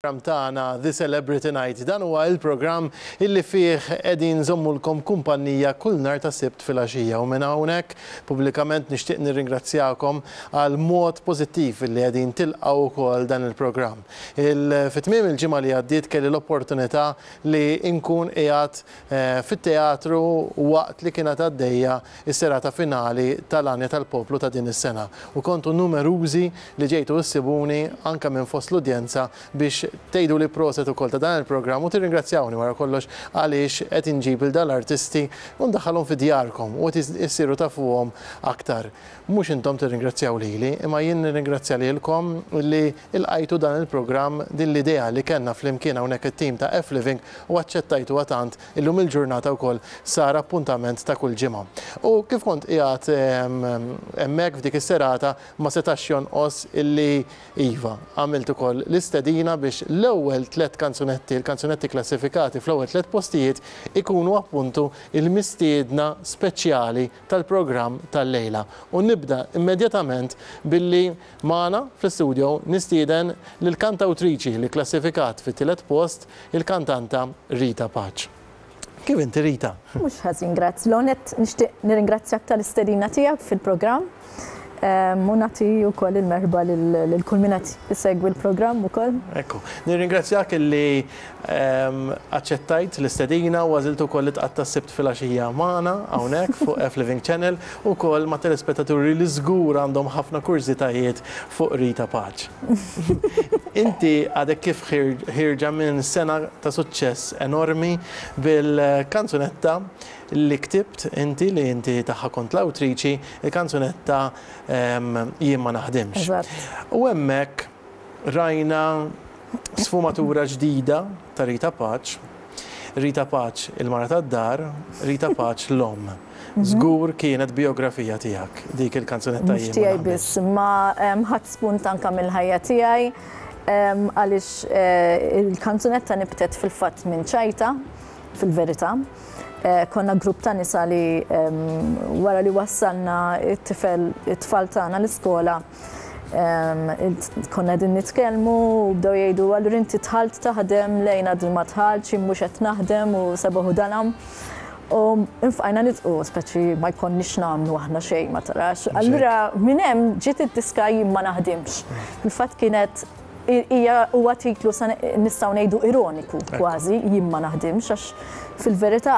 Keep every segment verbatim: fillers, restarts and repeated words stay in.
Program tagħna The Celebrity Night. Dan huwa il-programm illi fih qegħdin nżommulkom kumpanija kull nhar ta' Sibt filgħaxija, u minn hawnhekk pubblikament nixtieq nirringrazzjakom għal mod pożittiv illi qegħdin tilqgħu wkoll dan il-programm. Fi tmiem il-ġimgħa li għaddiet kelli l-opportunità li nkun qiegħed eh, fit-teatru waqt li kienet għaddejja is-serata finali tal-Għanja tal-Poplu ta' din is-sena. U kontu numerużi li ġejtu issibuni anke minn fost l-udjenza biex tgħidu li proset ukoll ta' dan il-programm u tirringrazzjawni wara kollox għaliex qed inġib il dal-artisti u ndaħħalhom fi djarkom u qed issiru tafuhom aktar. Mhux intom tirringrazzjaw lili, imma jien nirringrazzja lilkom li lqajtu dan il-programm, din l-idea li kellna flimkien hawnhekk it-tim ta' F Living, u aċċettajtu tant illum il-ġurnata wkoll sar appuntament ta' kull ġimgħa. U kif kont qiegħed hemmhekk f'dik is-serata, ma setax jonqos illi iva għamilt ukoll l-istedina biex l-ewwel tliet kanzunetti, il-kanzunetti klassifikati fl-ewwel tliet postijiet, ikunu appuntu il-mistiedna speċjali tal-programm tal-lejla. U nibda immedjatament billi magħna fl-studio nistieden lill-kantawtriċi li klassifikat fit-tielet post, il-kantanta Rita Pace. Kif inti, Rita? Mhux ħażin, grazzi. L-għonet nixtieq nirringrazzjak tal-istedina tiegħek fil-programm. U nagħti wkoll il-merħba lil kull min qed isegwi l-programm ukoll. Ekku, nirringrazzjak illi ehm, aċċettajt l-istedina u għażilt ukoll li tqatta' Sibt filgħaxija magħna hawnhekk fuq F Living Channel u wkoll ma' telespettaturi li żgur għandhom ħafna kurżitajiet fuq Rita Pace. Inti għadek kif ħierġa minn sena ta' suċċess enormi bil-kanzunetta li ktibt inti, li inti tagħha kont l-awtriċi, il-kanzunetta Jien ma naħdimx. U hemmhekk rajna sfumatura ġdida ta' Rita Pace, Rita Pace il-mara tad-dar, Rita Pace l-omm. Mhm. Żgur kienet biografija tiegħek dik il-kanzunetta. Mhux tiegħi biss, ma ħadd spunt anka mill-ħajja tiegħi, għaliex eh, il-kanzunetta nibtet fil-fatt minn ċajta, fil-verità. Eh, konna grupp ta' nisa li wara li wassalna it-tifel, it-tfal tagħna l-iskola, konna din nitkellmu u bdew jgħidu: "Allura inti dħalt taħdem, lejna din ma dħaltx, mhux qed naħdem" u sebaħu dalam. U infqajna nidħku, speċi ma jkollniex nagħmlu aħna xejn, ma tarax. Allura minn hemm ġiet id-diska Jien ma naħdimx. Fil-fatt kienet hija huwa titlu nistgħu ngħidu ironiku kważi, Jien ma naħdimx, għax fil-verità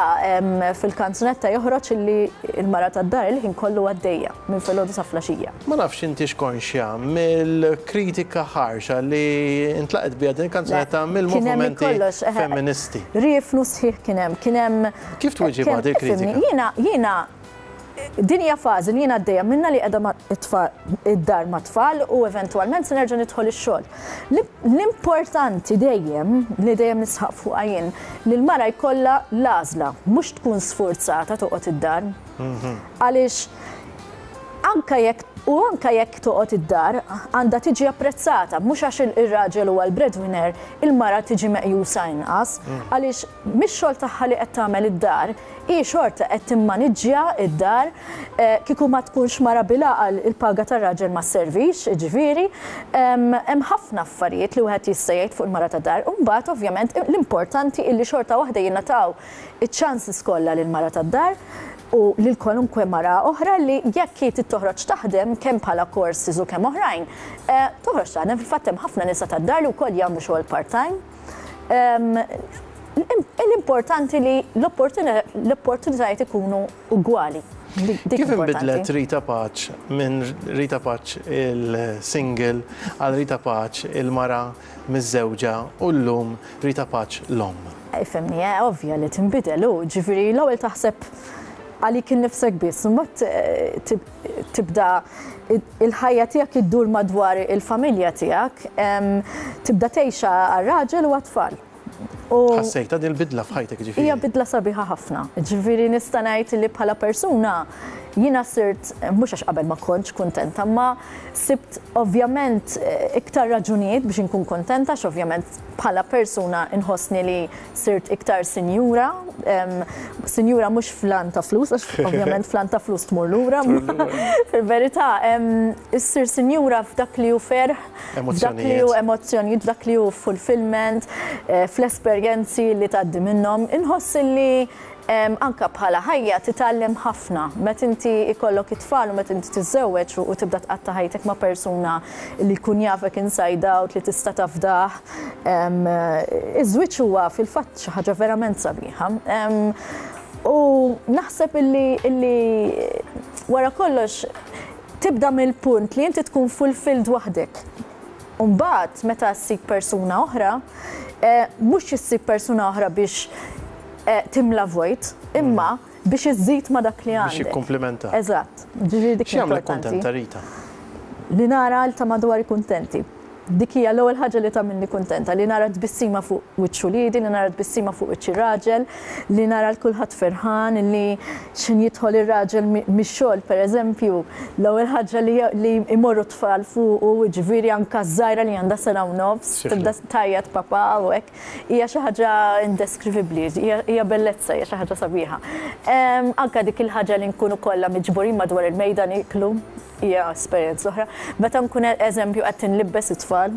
fil-kanzunetta joħroġ illi il-mara tad-dar il-ħin kollu għaddejja minn filgħodu sa filgħaxija. Ma nafx intix konxja mill-kritika ħarxa li intlaqet biha din il-kanzunetta mill-movimenti femministi. Riefnu sħiħ kien hemm, kien hemm. Kif tweġibha din kritika? Jiena jiena din hija fażi li jiena għaddejja minna, li qiegħda id-dar ma' tfal u eventwalment se nerġa' nidħol ix-xogħol. L-importanti dejjem, li dejjem nisħaq fuq jien, li l-mara jkollha l-għażla, mhux tkun sforzata toqgħod id-dar. Mhm. Għaliex anka jekk u anka jekk toqgħod id-dar għandha tiġi apprezzata, mhux għax ir-raġel huwa l-breadwinner, il-mara tiġi meqjusa inqas, mm. għaliex mix-xogħol tagħha li qed tagħmel id-dar, hi xorta qed timmaniġġja id-dar, eh, kieku ma tkunx mara bil-għaqal, il-paga tar-raġel ma servix, ġifieri, hemm ħafna affarijiet li wieħed jista' jgħid fuq il-mara tad-dar. U mbagħad ovvjament l-importanti illi xorta waħda jingħataw iċ-chances kollha lil mara tad-dar u lil kwalunkwe mara oħra li jekk hi toħroġ taħdem, kemm bħala courses u kemm oħrajn, eh, toħroġ taħdem. Fil-fatt hemm ħafna nisa tad-dar li wkoll jagħmlu xogħol part-time. L-importanti li l-opportunitajiet ikunu ugwali. Kif inbidlet Rita Pace minn Rita Pace il-single għal Rita Pace il-mara miżżewġa u llum Rita Pace l-omm? Ifhimni, eh, ovvja li tinbidel, u ġifieri l-ewwel taħseb għalik innifsek biss, mbagħad eh, tibda il-ħajja tiegħek iddur madwar il-familja tiegħek, tibda tgħixha għar-raġel u għat-tfal. Ħassejta din il-bidla f'ħajtek, ġifieri? Hija bidla sabiħa ħafna. Ġifieri nista' ngħid li bħala persuna Jiena sirt, mhux għax qabel ma kontx kuntenta, ma sibt ovvjament iktar raġunijiet biex inkun kontenta, għax ovvjament bħala persuna inħossni li sirt iktar sinjura, sinjura mhux flan ta' flus, għax ovvjament flan ta' flus tmur lura, fil-verità, issir sinjura f'dak li hu ferħ, f'dak li hu emozzjonijiet, f'dak li hu fulfillment, fl-esperjenzi li tgħaddi minnhom, inħoss li anka bħala ħajja titgħallem ħafna. Meta inti ikollok it-tfal u meta inti tiżżewweġ u tibda tqatta' ħajtek ma' persuna li jkun jafek inside out, li tista' tafdah. Iż-żwieġ huwa fil-fatt xi ħaġa verament sabiħa. U naħseb illi wara kollox tibda mill-punt li inti tkun fulfilled waħdek. U mbagħad meta ssib persuna oħra, mhux issib persuna oħra biex timla vojt, imma biex iżżid ma dak li għandek. Biex jikkumplimenta. Eżatt. Ġifieri dik X'jagħmlek kuntenta, Rita? Li nara l ta' madwari kuntenti. Dik hija l-ewwel ħaġa li tagħmilni kuntenta, li nara tbissima fuq wiċċ uliedi, li nara tbissima fuq wiċċ ir-raġel, li nara l kulħadd ferħan, li x'in jidħol ir-raġel mix-xogħol pereżempju, l-ewwel ħaġa li imorru tfal fuqu, ġifieri anke żgħira li għandha sena u nofs, tibda tajjat papà u hekk, hija xi ħaġa indeskrivibbli, hija bellezza, hija xi ħaġa sabiħa. Anke dik il-ħaġa li nkunu kollha miġburin madwar il-mejda niklu, hija esperjenza oħra. Meta nkun eżempju qed inlibbes it-tfal.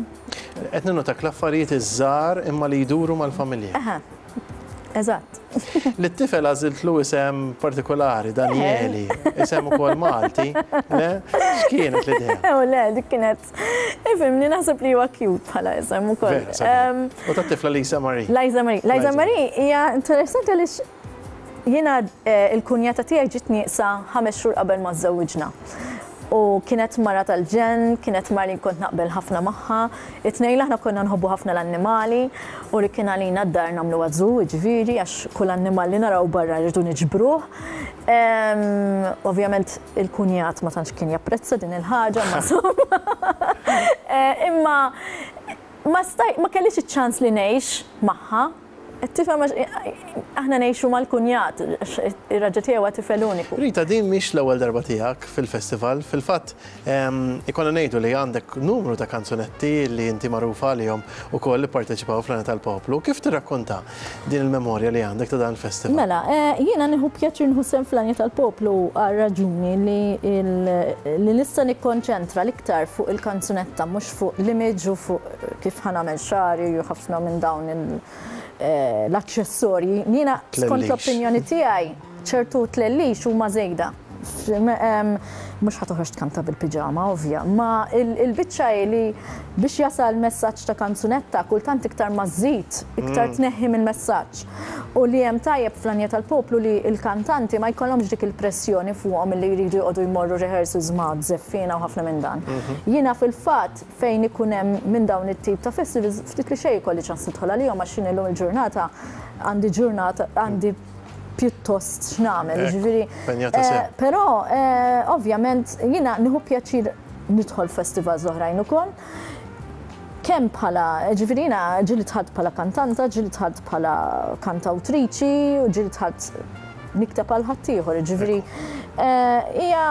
Qed ninnotak l-affarijiet iż-żgħar imma li jduru mal-familja. Aha. Eżatt. Lit-tifel għażiltlu isem partikolari, Danieli, isem ukoll Malti, le? X'kienet l-idea? U le, dik kienet, ifhimni, naħseb li huwa cute bħala isem ukoll. U tat-tifla Lisa Marie. Liza Marie. Liza Marie hija interessanti għaliex jiena il-kunjata tiegħi ġiet nieqsa ħames xhur qabel ma żżewwiġna. U kienet mara tal-ġen, kienet mara li kont naqbel ħafna magħha. It-tnejn aħna konna nħobbu ħafna l-annimali u li kien għalina d-dar nagħmlu għażu, jiġifieri, għax kull annimal li naraw barra rridu niġbruh. Ovvjament il-kunjat ma tantx kien japprezza din il-ħaġa, ma insomma. Imma ma kellix iċ-ċans li ngħix magħha. Tifhem, aħna ngħixu mal-kunjat, ir-raġel tiegħu huwa tifel uniku. Rita, din mhix l-ewwel darba tiegħek fil-festival. Fil-fatt, ikonna ngħidu li għandek numru ta' kanzunetti li inti magħrufa għalihom ukoll li pparteċipaw fl-Għanja tal-Poplu. Kif tirrakkonta din il-memorja li għandek ta' dan il-festival? Mela, jiena nieħu pjaċir nieħu sehem fl-Għanja tal-Poplu għal raġuni li nista' nikkonċentra l-iktar fuq il-kanzunetta, mhux fuq l-image u fuq kif ħa nagħmel xagħri u ħafna minn dawn il- l-aċċessorji. Jiena skont l-opinjoni tiegħi ċertu tlellix huma żejda. Mhux ħa toħroġ tkanta bil-piġama, ovvja, ma il-biċċa hi li biex jasal messaġġ ta' kanzunetta kultant iktar ma żżid, iktar tneħħi mill-messaġġ. U li hemm tajjeb fl-Għanja tal-Poplu li l-kantanti ma jkollhomx dik il-pressjoni fuqhom li jridu jqogħdu jmorru rehearsals ma' żeffina u ħafna minn dan. Jiena fil-fatt fejn ikun hemm minn dawn it-tip ta' festivals ftit li xejn ikolli ċans nidħol għalihom għax jien illum il-ġurnata għandi ġurnata għandi pjuttost x'nagħmel, jiġifieri. Però ovvjament jiena nieħu pjaċir nidħol festivals oħrajn ukoll. Kemm bħala, ġifieri jiena ġieli dħalt bħala kantanta, ġieli dħalt bħala kantawtriċi u ġieli dħalt nikteb għal ħaddieħor, jiġifieri hija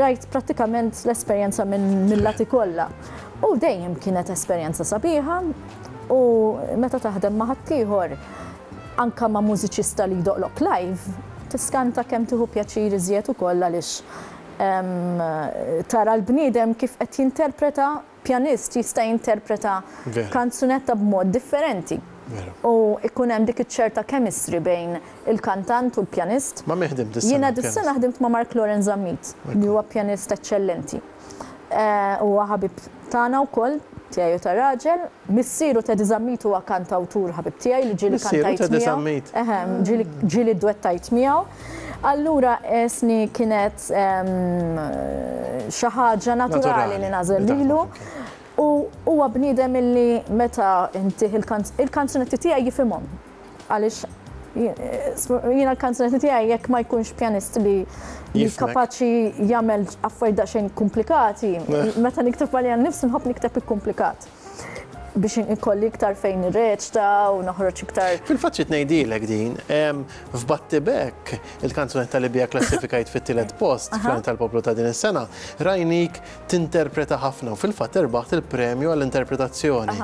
rajt prattikament l-esperjenza mill-lati kollha. U dejjem kienet esperjenza sabiħa u meta taħdem ma' ħaddieħor anka ma' mużiċista li jdoqlok live, tiskanta kemm tieħu pjaċir iżjed ukoll għaliex tara l-bniedem kif qed jinterpreta, pjanist jista' jinterpreta kanzunetta b'mod differenti. U ikun hemm dik iċ-ċerta chemistry bejn il-kantant u l-pjanist. Ma' min ħdimt dis-sena? Jiena dis-sena ħdimt ma' Mark Lorenz Zammit, li huwa pjanist eċċellenti. Huwa ħabib tagħna wkoll, tiegħi u tar-raġel. Missieru Teddy Zammit huwa kantawtur ħabib tiegħi li ġieli kantajt miegħu. Eħe, ġieli dwettajt miegħu. Allura esni kienet xi ħaġa naturali li nażel lilu. U huwa bniedem illi meta intih il-kanzunetti tiegħi jifhimhom. Għaliex jiena l-kanzunetti tiegħi jekk ma jkunx pjanist li kapaċi jagħmel affarijiet daqsxejn komplikati, meta nikteb għalija nnifsi nħobb nikteb ikkumplikat. Biex ikolli iktar fejn nirreċta u noħroġ iktar. Fil-fatt xi ngħidilek din, f'Battibekk, il-kanzunetta li bija klassifikajt fit-tielet post fl-Għanja tal-Poplu ta' din is-sena, rajnik tinterpreta ħafna u fil-fatt irbaħt il-premju għall-interpretazzjoni.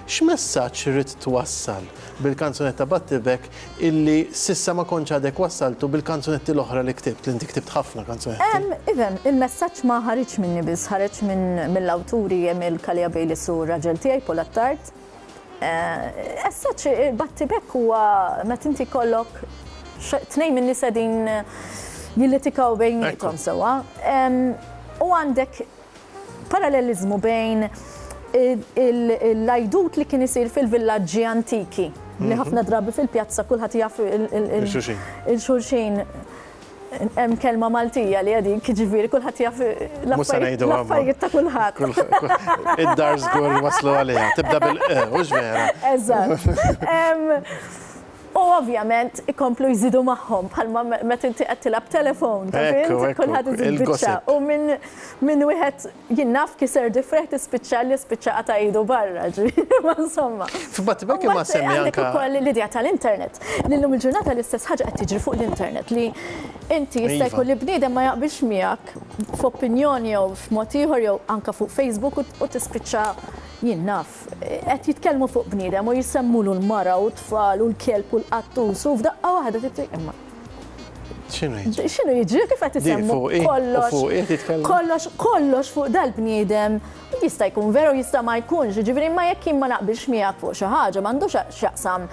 X'messaġġ ridt twassal bil-kanzunetta Battibekk illi s'issa ma kontx għadek wassaltu bil-kanzunetti l-oħra li ktibt, li inti ktibt ħafna kanzunetti? Ifhem, il-messaġġ ma ħareġ minni biss, ħareġ mill-awturi Emil Kalia Bayliss u raġel tiegħi Paul Attard. As-such, Battibekk huwa meta inti kollok tnejn minn nies qegħdin jillitikaw bejniethom sewwa. U għandek parallelizmu bejn l-għajdut li kien isir fil-villaġġi antiki li ħafna drabi fil-pjazza kulħadd jaf il-xulxin. Hemm kelma Maltija li għadik, ġifieri kulħadd jaf l-affarijiet ta' kulħadd. Id-dar żgur waslu għaliha, tibda bil-e, hux vera. Eżatt. U ovvjament ikomplu jżidu magħhom bħalma meta inti qed tilgħab telefon, kulħadd iżid biċċa. U minn wieħed jien naf kiser difreħ tispiċċa li spiċċa qata' idu barra, ma insomma. F'Battibekk imma semmi anke ukoll l-idea tal-internet. Illum il-ġurnata l-istess ħaġa qed tiġri fuq l-internet li inti jista' jkun li bniedem ma jaqbilx miegħek f'opinjoni jew f'mod ieħor jew anke fuq Facebook u tispiċċa jien naf, qed jitkellmu fuq bniedem u jisemmulu l-mara u t-tfal u l-kelb u l-qattus u f'daqqa waħda titri imma. X'inhu jiġri? X'inhu jiġri kif qed isemmu kollox? Kollox, kollox fuq dal-bniedem jista' jkun veru jista' ma jkunx, jiġifieri imma jekk jien ma naqbilx miegħek fuq xi ħaġa m'għandux x'jaqsam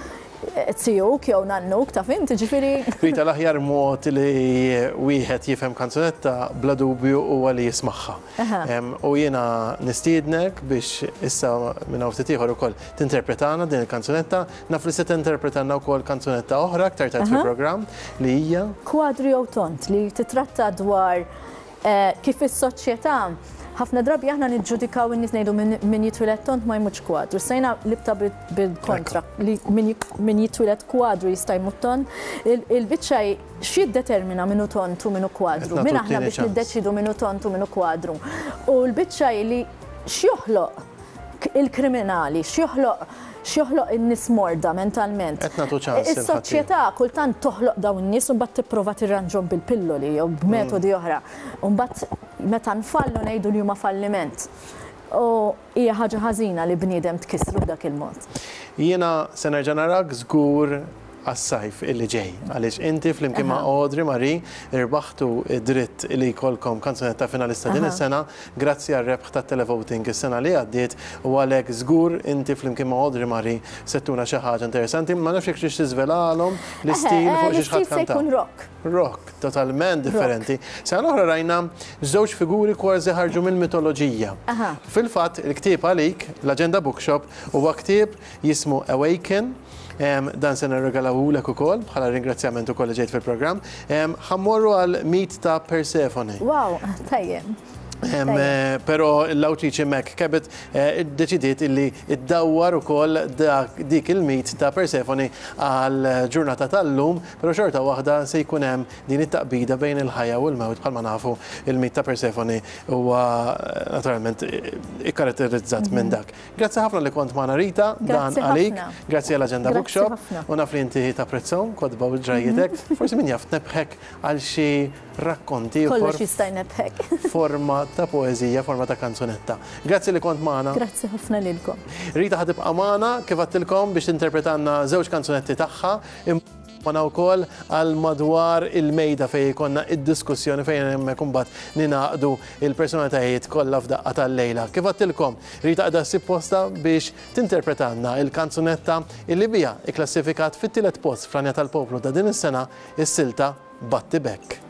tijuk jew nannuk ta' fint, ġifieri. Rita, l-aħjar mod li wieħed jifhem kanzunetta bla dubju huwa li jismagħha. U jiena nistiednek biex issa minn hawn ftit ieħor ukoll tinterpretana din il-kanzunetta, naf li se tinterpretana wkoll kanzunetta oħra aktar tard fil-programm li hija Kwadru jew Tont, li titratta dwar kif is-soċjetà ħafna drabi aħna niġġudikaw in-nies ngħidu min jitwieled tont ma jmutx kwadru. Sejna libta bil-kontra li min jitwieled kwadru jista' jmut tont. Il-biċċa x'jiddetermina min hu tont u min hu kwadru? Min aħna biex niddeċidu min hu tont u min hu kwadru? U l-biċċa li x'joħloq il-kriminali, x'joħloq x'joħloq in-nies morda mentalment. Is-soċjetà kultant toħloq dawn in-nies u mbagħad tipprova tirranġhom bil-pilloli jew b'metodi oħra. U mbagħad meta nfallu ngħidu li huma falliment. U hija ħaġa ħażina li bniedem tkissru b'dak il-mod. Jiena se nerġa' narak żgur għas-sajf illi ġej, għaliex inti flimkien ma' Audrey Marie irbaħtu dritt li jkollkom kanzunetta finalista din is-sena grazzi għar-rebħ tat-televoting is-sena li għaddiet u għalhekk żgur inti flimkien ma' Audrey Marie settuna xi ħaġa interessanti, ma nafx jekk tridx tiżvelalhom l-istil fuq xi ħadd se jkun rock. Rock, totalment differenti. Sena l-oħra rajna żewġ figuri kważi ħarġu mill-mitoloġija. Fil-fatt il-ktieb għalik, l-Agenda Bookshop, huwa ktieb jismu Awaken. Dan se nirregalawulek ukoll bħala ringrazzjament ukoll li ġejt fil-programm. Ħa mmorru għal mit ta' Persefone. Wow, tajjeb. Però l-awtriċi Meg Cabot iddeċidiet illi iddawwar ukoll dik il-mit ta' Persefone għal ġurnata tal-lum, però xorta waħda se jkun hemm din it-taqbida bejn il-ħajja u l-mewt bħalma nafu il-mit ta' Persefone huwa naturalment ikkaratterizzat minn dak. Grazzi ħafna li kont magħna Rita, dan għalik, grazzi għall Agenda Bookshop u naf li inti tapprezzahom kotba u ġrajjitek, forsi min jaf tnebħek għal xi rakkonti Kollox jista' jnebħek. Forma ta' poeżija, forma ta' kanzunetta. Grazzi li kont magħna. Grazzi ħafna lilkom. Rita ħa tibqa' magħna kif għedtilkom biex tinterpretanna żewġ kanzunetti tagħha magħna wkoll għal madwar il-mejda fejn jkollna id-diskussjoni fejn hemmhekk imbagħad ninaqdu il-personalitajiet kollha f'daqqa tal-lejla. Kif għedtilkom, Rita qiegħda ssib posta biex tinterpretanna il-kanzunetta illi biha ikklassifikat fit-tielet post fl-Għanja tal-Poplu ta' din is-sena, is-silta Battibekk.